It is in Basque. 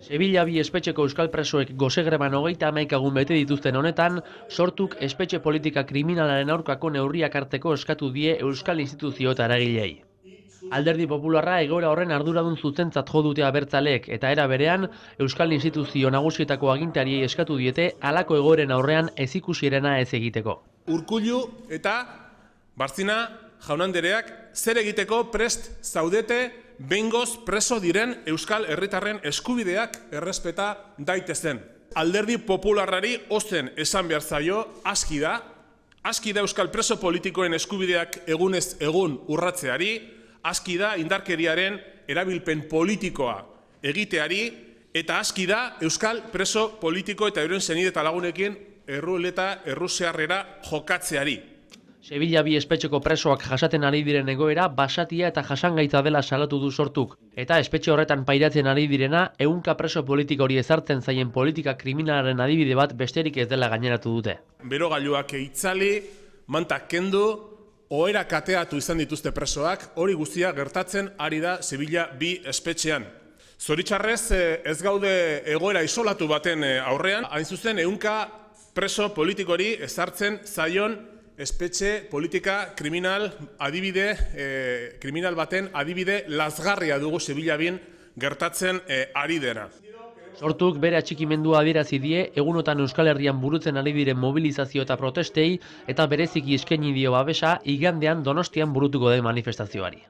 Sevilla bi espetxeko euskal presoek gozegreban 31 egun bete dituzten honetan, sortuk espetxe politika kriminalaren aurkako neurriak hartzeko eskatu die euskal instituzio eta eragilei. Alderdi Popularra egoera horren arduradun zuzentzat jo dute abertzaleek eta era berean euskal instituzio nagusietako agintariei eskatu diete halako egoeren aurrean ezikusierena ez egiteko. Urkullu eta Bartzina jaun-andreak zer egiteko prest zaudete behingoz preso diren euskal herritarren eskubideak errespeta daitezen. Alderdi Popularrari ozen esan behar zaio aski da euskal preso politikoen eskubideak egunez egun urratzeari, aski da indarkeriaren erabilpen politikoa egiteari, eta aski da euskal preso politiko eta euren senide eta lagunekin erruleta errusiarrera jokatzeari. Sevilla bi espetxeko presoak jasaten ari diren egoera basatia eta jasangaitza dela salatu du sortuk, eta espetxe horretan pairatzen ari direna ehunka preso politika hori ezartzen zaien politika kriminalaren adibide bat besterik ez dela gaineratu dute. Berogailuak itzali, mantak kendu, ohera kateatu izan dituzte presoak, hori guztia gertatzen ari da Sevilla bi espetxean. Zoritxarrez ez gaude egoera isolatu baten aurrean, hain zuzen ehunka preso politikori ezartzen zaion espetxe politika kriminal baten adibide lazgarria dugu Sevilla bin gertatzen ari dena. Sortuk bere atxikimendua adierazi die egunotan Euskal Herrian burutzen ari diren mobilizazio eta protestei eta bereziki eskaini dio babesa igandean Donostian burutuko den manifestazioari.